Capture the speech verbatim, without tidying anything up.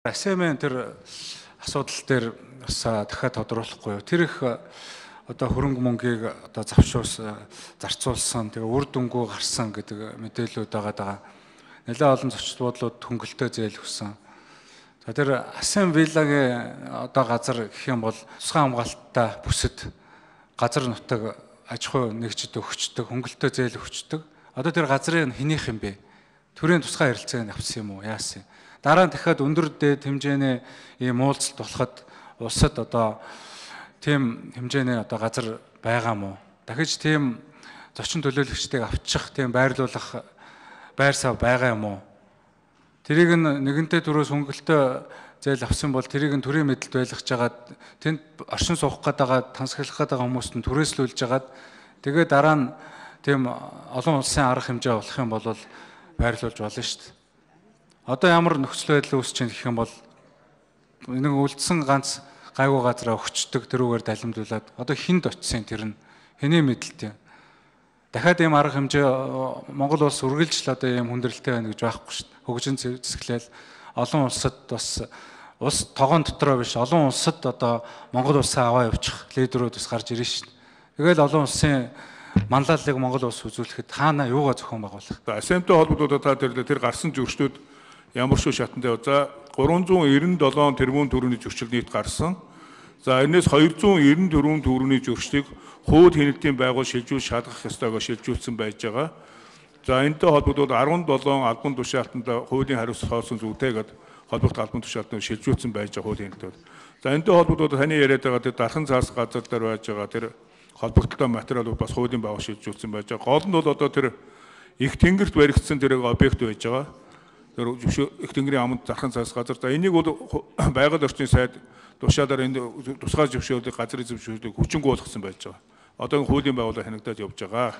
Асемэн тэр асуудал дээр бас дахиад тодруулахгүй. Тэр их одоо хөрөнгө мөнгийг одоо завшуус зарцуулсан, тэгээ үр дүнгүй гарсан гэдэг мэдээлэлүүд байгаа. Нэлээд олон зочд буудлууд хөнгөлтөө зээл өгсөн. За тэр Асем виллагийн одоо газар гэх юм бол тусгай хамгаалттай бүсэд газар нутаг аж ахуй нэгжид өгчдөг, хөнгөлтөө зээл өгчдөг. Одоо тэр газрын хэнийх юм бэ? Төрийн тусгай харилцааг авсан юм уу? Яасан? Дараа нь дахиад өндөр дээд хэмжээний ийм уулзалт болоход улсад одоо тийм хэмжээний одоо газар байгаа мó? Дахиж тийм зочин төлөөлөгчдийг авчих, тийм байрлуулах байр сав байгаа юм уу? Тэрийг нэгэнтээ төрөөс хөнгөлтөө зээл авсан бол тэрийг нь төрийн мэдэлд байлгаж жагаад тэнд оршин суух гэдэг тансаглах гэдэг хүмүүст нь түрээслүүлж жагаад тэгээ дараа нь тийм олон улсын арга хэмжээ болох юм бол байрлуулж болно шүү дээ. Одоо ямар нөхцөл байдал үүсэж байна гэх юм бол нэг үлдсэн ганц гайгүй газараа өгчдөг тэрүүгээр далимдуулаад одоо хинд очисын тэр нь хэний мэдэлтэй. Дахиад ийм арга хэмжээ Монгол улс үргэлж л одоо ийм хүндрэлтэй байна гэж байхгүй шүү дээ. Хөгжин зэвсгэлэл олон улсад бас улс тогоон дотроо биш олон улсад одоо Монгол улсаа аваа явуучих лидерүүд бас гарч ирнэ шүү дээ. Тэгэл олон улсын манлайллыг Монгол улс үзүүлэхэд хаана юугаа зохион байгуулах. Асемтэй холбогдоод та тэр тэр гарсан зөрчнүүд ямар шүү шатанд за гурван зуун эрдэнэ долоон тэрбум төгрөгийн зөрчил нийт гарсан. За энэс хоёр зуун эрдэнэ дөрвөн төгрөгийн зөрчлийг хууль хяналтын байгуул шилжүүлж шалгах ёстойгоо шилжүүлсэн байж байгаа. За энэтэй холбогдоод арван долоон албан тушаалтанд хуулийн хариуцлага хоосон зүйтэй гэдэг холбогдох албан тушаалтанд шилжүүлсэн байж байгаа хуулийн хяналтад. За энэтэй холбогдоод таны яриад байгаа тэр дархан цаас газар дээр байж байгаа тэр холбогдолтой материалууд бас хуулийн байгуул шилжүүлсэн байж байгаа. Гол нь бол одоо тэр их тэнгэрт баригдсан тэр объект байж байгаа. Тэр их тэнгэрийн аманд дархан цаас газар. За энийг бол байгаль орчны сайд тушаалаар энэ тусгай зөвшөөрлийг газрын зөвшөөрлийг хүчингү болгосон байж байгаа. Одоо хуулийн байгууллага хянагдаад явж байгаа.